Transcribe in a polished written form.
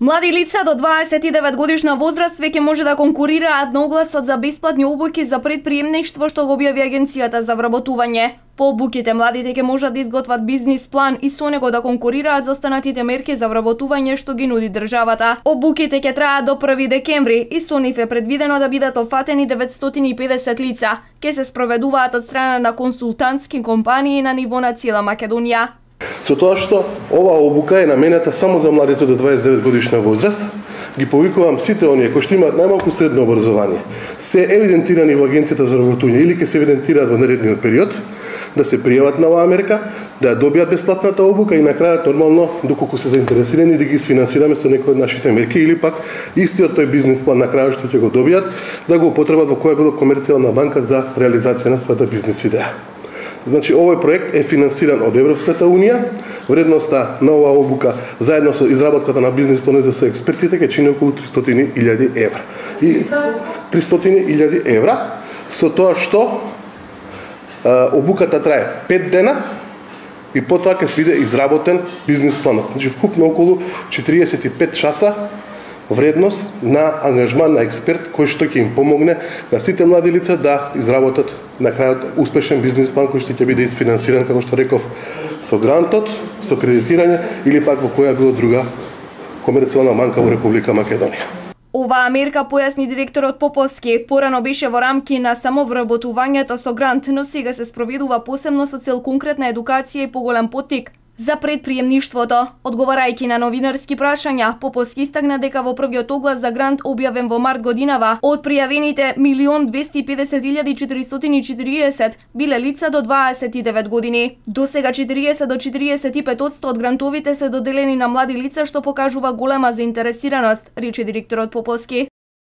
Млади лица до 29 годишна возраст веќе може да конкурираат на огласот за бесплатни обуки за предприемништво што го објави Агенцијата за вработување. По обуките младите ќе можат да изготват бизнис план и со него да конкурираат за останатите мерки за вработување што ги нуди државата. Обуките ќе траат до 1 декември и со нив е предвидено да бидат офатени 950 лица. Ќе се спроведуваат од страна на консултантски компании на ниво на цела Македонија. Со тоа што оваа обука е наменета само за младите до 29 годишна возраст, ги повикувам сите оние кои што имаат најмалку средно образование, се евидентирани во Агенцијата за вработување или ќе се евидентираат во наредниот период, да се пријават на оваа мерка, да ја добијат бесплатната обука и на крајот нормално, доколку се заинтересирани, да ги сфинансираме со некои од нашите мерки или пак истиот тој бизнис план на крајот што ќе го добијат, да го употребат во која било комерцијална банка за реализација на својата бизнис идеја. Значи, овој проект е финансиран од Европската Унија. Вредноста на оваа обука, заедно со изработката на бизнис планот со експертите, ќе чини околу 300.000 евра. И 300.000 евра, со тоа што обуката трае 5 дена и потоа ќе биде изработен бизнис планот. Значи, вкупно околу 45 часа вредност на ангажман на експерт кој што ќе им помогне на сите млади лица да изработат на крајот успешен бизнис план кој што ќе биде изфинансиран, како што реков, со грантот, со кредитирање или пак во која било друга комерцијална банка во Република Македонија. Оваа мерка, појасни директорот Поповски, порано беше во рамки на самовработувањето со грант, но сега се спроведува посебно со цел конкретна едукација и поголем поттик за предприемништвото. Одговарајќи на новинарски прашања, Поповски истакна дека во првиот оглас за грант објавен во март годинава, од пријавените 1.250.440 биле лица до 29 години. До сега 40 до 45% од грантовите се доделени на млади лица, што покажува голема заинтересираност, рече директорот Поповски.